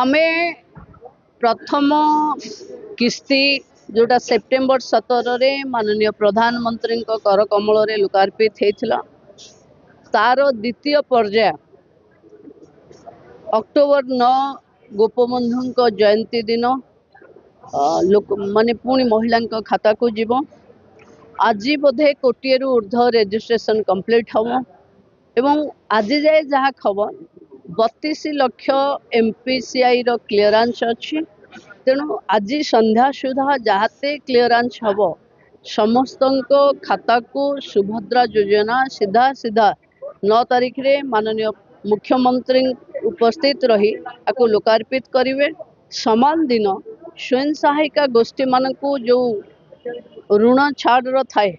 ଆମେ ପ୍ରଥମ କିସ୍ତି ଯେଉଁଟା ସେପ୍ଟେମ୍ବର 17ରେ ମାନନୀୟ ପ୍ରଧାନମନ୍ତ୍ରୀଙ୍କ କରକମଳରେ ଲୋକାର୍ପିତ ହେଇଥିଲା, ତାର ଦ୍ୱିତୀୟ ପର୍ଯ୍ୟାୟ ଅକ୍ଟୋବର 9 ଗୋପବନ୍ଧୁଙ୍କ ଜୟନ୍ତୀ ଦିନ ଲୋକ ମାନେ ପୁଣି ମହିଳାଙ୍କ ଖାତାକୁ ଯିବ। ଆଜି ବୋଧେ କୋଟିଏରୁ ଉର୍ଦ୍ଧ୍ୱ ରେଜିଷ୍ଟ୍ରେସନ କମ୍ପ୍ଲିଟ୍ ହେବ ଏବଂ ଆଜି ଯାଏ ଯାହା ଖବର 32 ଲକ୍ଷ ଏମ୍ପିସିଆଇର କ୍ଲିୟରାନ୍ସ ଅଛି। ତେଣୁ ଆଜି ସନ୍ଧ୍ୟା ସୁଦ୍ଧା ଯାହାତେ କ୍ଲିୟରାନ୍ସ ହେବ, ସମସ୍ତଙ୍କ ଖାତାକୁ ସୁଭଦ୍ରା ଯୋଜନା ସିଧା ସିଧା 9 ତାରିଖରେ ମାନନୀୟ ମୁଖ୍ୟମନ୍ତ୍ରୀ ଉପସ୍ଥିତ ରହି ତାକୁ ଲୋକାର୍ପିତ କରିବେ। ସମାନ ଦିନ ସ୍ୱୟଂ ସହାୟିକା ଗୋଷ୍ଠୀମାନଙ୍କୁ ଯେଉଁ ଋଣ ଛାଡ଼ର ଥାଏ,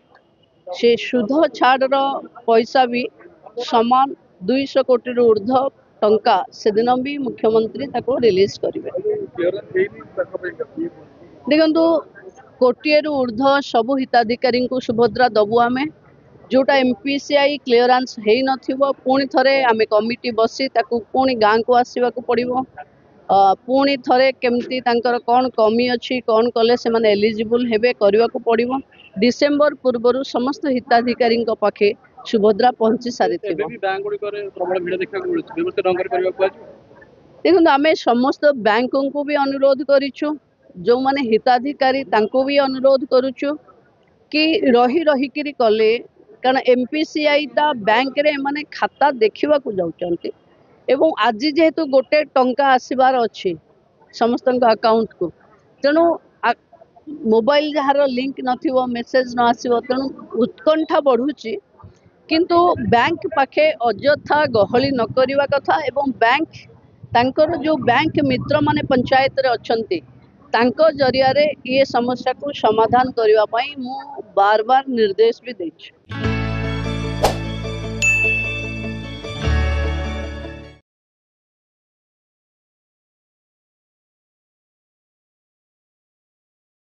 ସେ ସୁଧ ଛାଡ଼ର ପଇସା ବି ସମାନ 200 କୋଟିରୁ ଉର୍ଦ୍ଧ୍ୱ ଟଙ୍କା ସେଦିନ ବି ମୁଖ୍ୟମନ୍ତ୍ରୀ ତାକୁ ରିଲିଜ୍ କରିବେ। ଦେଖନ୍ତୁ, କୋଟିଏରୁ ଉର୍ଦ୍ଧ୍ୱ ସବୁ ହିତାଧିକାରୀଙ୍କୁ ସୁଭଦ୍ରା ଦେବୁ ଆମେ। ଯେଉଁଟା M P C I clearance ହେଇନଥିବ, ପୁଣି ଥରେ ଆମେ କମିଟି ବସି ତାକୁ ପୁଣି ଗାଁକୁ ଆସିବାକୁ ପଡ଼ିବ, ପୁଣି ଥରେ କେମିତି ତାଙ୍କର କ'ଣ କମି ଅଛି, କ'ଣ କଲେ ସେମାନେ ଏଲିଜିବୁଲ୍ ହେବେ କରିବାକୁ ପଡ଼ିବ। ଡିସେମ୍ବର ପୂର୍ବରୁ ସମସ୍ତ ହିତାଧିକାରୀଙ୍କ ପାଖେ ସୁଭଦ୍ରା ପହଞ୍ଚି ସାରିଥିବ। ଦେଖନ୍ତୁ, ଆମେ ସମସ୍ତ ବ୍ୟାଙ୍କଙ୍କୁ ବି ଅନୁରୋଧ କରିଛୁ, ଯେଉଁମାନେ ହିତାଧିକାରୀ ତାଙ୍କୁ ବି ଅନୁରୋଧ କରୁଛୁ କି ରହି ରହିକିରି କଲେ, କାରଣ ଏମ୍ ପି ସି ଆଇଟା ବ୍ୟାଙ୍କରେ ଏମାନେ ଖାତା ଦେଖିବାକୁ ଯାଉଛନ୍ତି ଏବଂ ଆଜି ଯେହେତୁ ଗୋଟେ ଟଙ୍କା ଆସିବାର ଅଛି ସମସ୍ତଙ୍କ ଆକାଉଣ୍ଟକୁ, ତେଣୁ ମୋବାଇଲ ଯାହାର ଲିଙ୍କ ନଥିବ ମେସେଜ ନ ଆସିବ, ତେଣୁ ଉତ୍କଣ୍ଠା ବଢ଼ୁଛି। କିନ୍ତୁ ବ୍ୟାଙ୍କ ପାଖେ ଅଯଥା ଗହଳି ନ କରିବା କଥା ଏବଂ ବ୍ୟାଙ୍କ ତାଙ୍କର ଯେଉଁ ବ୍ୟାଙ୍କ ମିତ୍ରମାନେ ପଞ୍ଚାୟତରେ ଅଛନ୍ତି ତାଙ୍କ ଜରିଆରେ ଇଏ ସମସ୍ୟାକୁ ସମାଧାନ କରିବା ପାଇଁ ମୁଁ ବାର ବାର ନିର୍ଦ୍ଦେଶ ବି ଦେଇଛି।